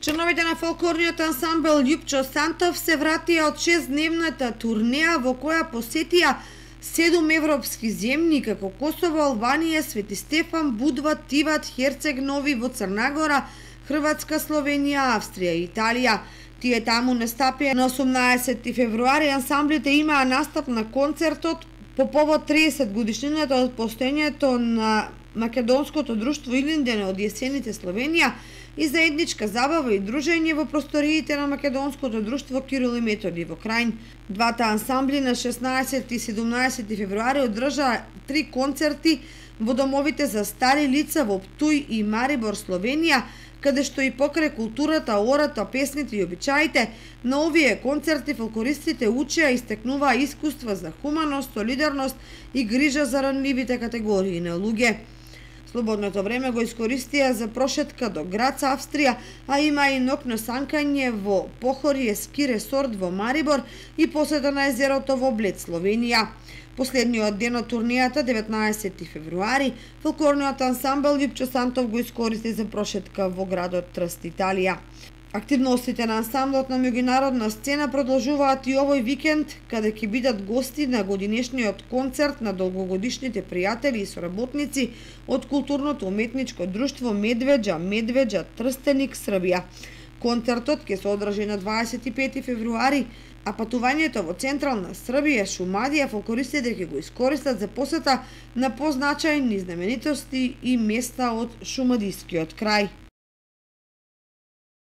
Членовите на фолклорниот ансамбл Љупчо Сантов се вратија од 6-дневната турнеја во која посетија 7 европски земји како Косово, Албанија, Свети Стефан, Будва, Тиват, Херцег Нови во Црнагора, Хрватска, Словенија, Австрија и Италија. Тие таму настапија на 18 февруари. Ансамблите имаа настап на концертот по повод 30 годишнината од постоењето на Македонското друштво Илинден од јесените Словенија и заедничка забава и дружење во просториите на Македонското друштво Кирил и Методи во Крајн. Двата ансамбли на 16 и 17 февруари одржаа 3 концерти во домовите за стари лица во Птуј и Марибор, Словенија, каде што и покрај културата, ората, песните и обичаите, на овие концерти фолклористите учеа и стекнуваа искуства за хуманост, солидарност и грижа за ранливите категории на луѓе. Слободното време го искористија за прошетка до Грац, Австрија, а има и ноќно санкање во Похорје ски ресорт во Марибор и посета на езерото во Блед, Словенија. Последниот ден од турнијата, 19 февруари, фолклорниот ансамбл Љупчо Сантов го искористи за прошетка во градот Трст, Италија. Активностите на ансамблот на меѓународна сцена продолжуваат и овој викенд, каде ќе бидат гости на годинешниот концерт на долгогодишните пријатели и соработници од културното уметничко друштво Медвеđa Трстеник, Србија. Концертот ќе се одржи на 25 февруари, а патувањето во централна Србија, Шумадија, фолклористите ќе го искористат за посета на позначајни знаменитости и места од шумадискиот крај.